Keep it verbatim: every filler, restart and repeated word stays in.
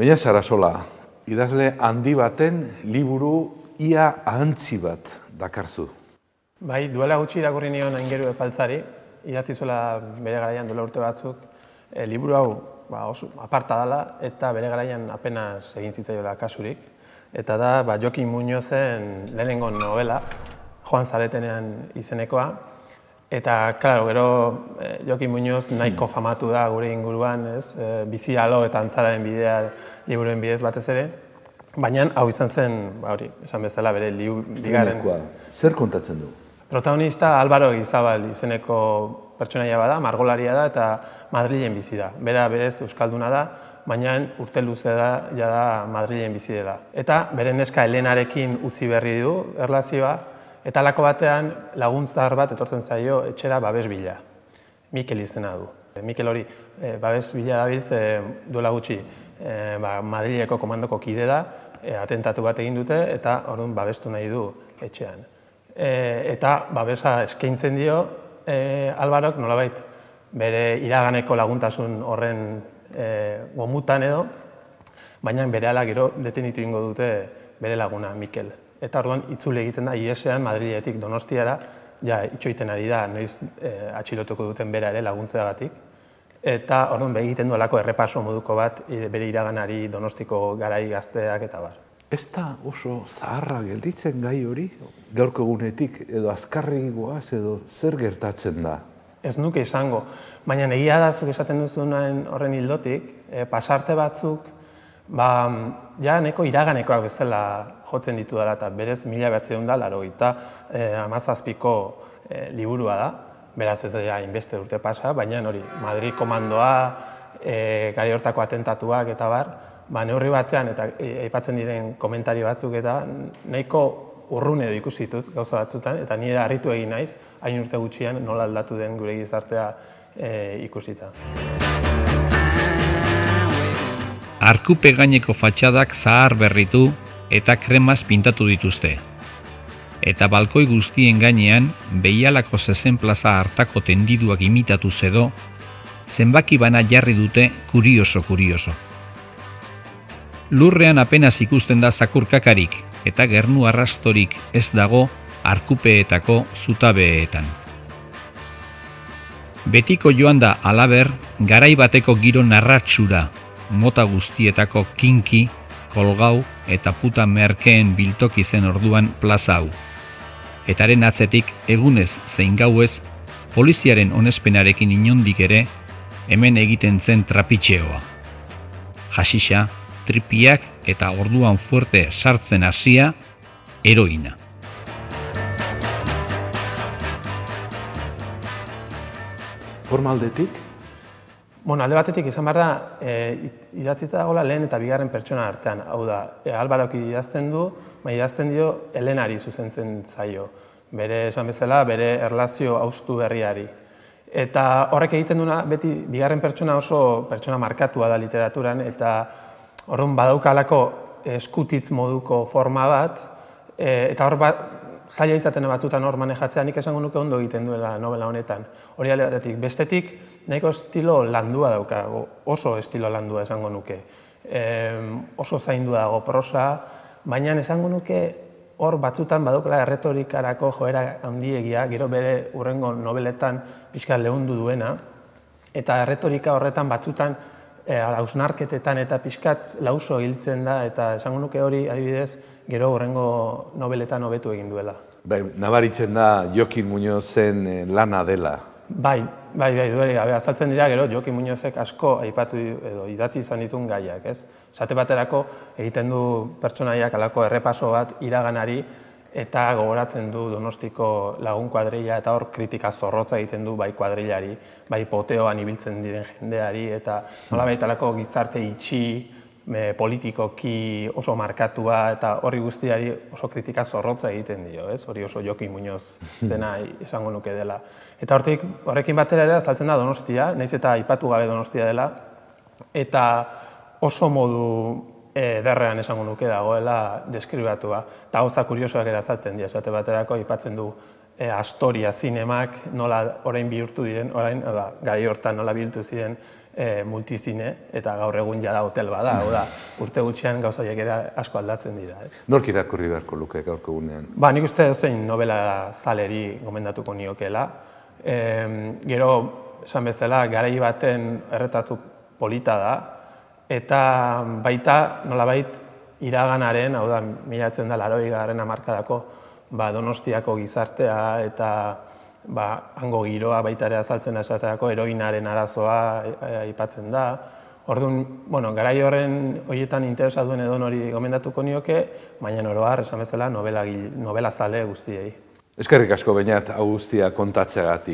Baina Sarasola, idazle handi baten liburu ia ahantzi bat dakarzu. Bai, duela gutxi irakurri nion Aingeru Epaltzari, idatzi zuela bere garaian duela urte batzuk, e, liburu hau ba, oso aparta dela eta bere garaian apenas egin zitzaiola kasurik. Eta da ba, Jokin Muñozen lehenengo novela, Joan Zaretenean izenekoa. Eta, klaro, gero e, Jokin Muñoz nahiko famatu da gure inguruan, ez? E, bizi alo eta antzararen bidea liburuen bidez batez ere. Baina hau izan zen, ba, hori, esan bezala bere bigarren. Zer kontatzen du? Protagonista Álvaro Egizabal izeneko pertsonaia bada, margolaria da eta Madrilen bizi da. Bera berez euskalduna da, baina urte luze da, ja da Madrilen bizi dela. Eta bere neska Elenarekin utzi berri du erlazioa, eta halako batean laguntzar bat etortzen zaio etxera babes bila. Mikel izena du. Mikel hori e, babes bila dabiltz e, duela gutxi e, ba, Madrileko komandoko kide da, e, atentatu bat egin dute eta orduan babestu nahi du etxean. E, eta babesa eskaintzen dio e, Alvarok nolabait bere iraganeko laguntasun horren e, gomutan edo, baina berehala gero detenitu ingo dute bere laguna Mikel. Eta orduan itzule egiten da Iesean Madriletik Donostiara, ja itxoiten ari da noiz e, atxilotuko duten bera ere laguntzeagatik. Eta orduan egiten du alako errepaso moduko bat bere iraganari Donostiko garai gazteak eta bar. Ez da oso zaharra gelditzen gai hori? Gaurko egunetik edo azkarri goaz edo zer gertatzen da? Ez nuke izango, baina egia da zuk esaten duzunaren horren hildotik, e, pasarte batzuk, ba, ja neko iraganekoak bezala jotzen ditu dela eta berez mila behatziehun da laurogeita hamazazpiko e, liburua da, beraz ez da hainbeste urte pasa, baina hori Madrid komandoa, e, gari hortako atentatuak eta bar, ba, neurri batean eta aipatzen diren komentario batzuk eta nahiko urrun edo ikusi ditut gauza batzutan eta nire harritu egin naiz, hain urte gutxian nola aldatu den gure gizartea e, ikusita. Arkupe gaineko fatxadak zahar berritu eta kremaz pintatu dituzte. Eta balkoi guztien gainean, Behialako zezen plaza hartako tendiduak imitatu edo, zenbaki bana jarri dute kurioso-kurioso. Lurrean apenas ikusten da zakurkakarik eta gernu arrastorik ez dago arkupeetako zutabeetan. Betiko joan da halaber, garai bateko giro narratxura, mota guztietako kinki, kolgau eta puta merkeen biltoki zen orduan plaza hau. Etaren atzetik egunez zein gauez, poliziaren onespenarekin inondik ere, hemen egiten zen trapitxeoa. Hasixa, tripiak eta orduan fuerte sartzen hasia, heroina. Formaldetik? Bueno, alde batetik izan behar da, e, idatzita dagoela lehen eta bigarren pertsona artean. Hau da, e, Alvarok idazten du, baina idazten dio Elenari zuzentzen zaio. Bere esan bezala, bere erlazio haustu berriari. Eta horrek egiten duena, beti bigarren pertsona oso pertsona markatua da literaturan, eta orduan badaukalako eskutitz moduko forma bat, e, eta hor bat, zaila izaten batzutan hor manejatzea, nik esango nuke ondo egiten duela novela honetan. Hori alde batetik. Bestetik, nahiko estilo landua dauka, oso estilo landua esango nuke. E, oso zaindu dago prosa, baina esango nuke hor batzutan badaukala erretorikarako joera handiegia, gero bere hurrengo nobeletan pixka lehundu duena, eta erretorika horretan batzutan e, hausnarketetan eta pixkat lauso hiltzen da, eta esango nuke hori adibidez gero hurrengo nobeletan hobetu egin duela. Bai, nabaritzen da Jokin Muñozen lana dela. Bai, bai, bai, duela gabe azaltzen dira gero Jokin Muñozek asko aipatu edo idatzi izan ditun gaiak, ez? Esate baterako egiten du pertsonaiak halako errepaso bat iraganari eta gogoratzen du Donostiko lagun kuadrilla eta hor kritika zorrotza egiten du bai kuadrillari, bai poteoan ibiltzen diren jendeari eta nolabait halako gizarte itxi, Me, politikoki oso markatua eta horri guztiari oso kritika zorrotza egiten dio, ez? Hori oso Jokin Muñoz zena izango nuke dela. Eta hortik, horrekin batera ere azaltzen da Donostia, nahiz eta aipatu gabe Donostia dela, eta oso modu ederrean esango nuke dagoela deskribatua. Eta gauza kuriosoak ere azaltzen dira, esate baterako aipatzen du e, Astoria zinemak nola orain bihurtu diren, orain, da, gai hortan nola bihurtu ziren multizine, eta gaur egun jada hotel bada, hau da, urte gutxian gauza horiek ere asko aldatzen dira. Nork irakurri beharko luke gaurko egunean? Ba, nik uste zein novela zaleri gomendatuko niokeela. Gero, esan bezala, garai baten erretatu polita da, eta baita, nolabait, iraganaren, hau da, milatzen da, laroi garen hamarkadako Donostiako gizartea eta hango giroa baita ere azaltzen esateako heroinaren arazoa aipatzen da. Orduan, garai horren horietan interesa duen edo hori gomendatuko nioke, baina oro har, esan bezala, novela zale guztiei. Eskerrik asko, Beñat, hau guztia kontatzeagatik.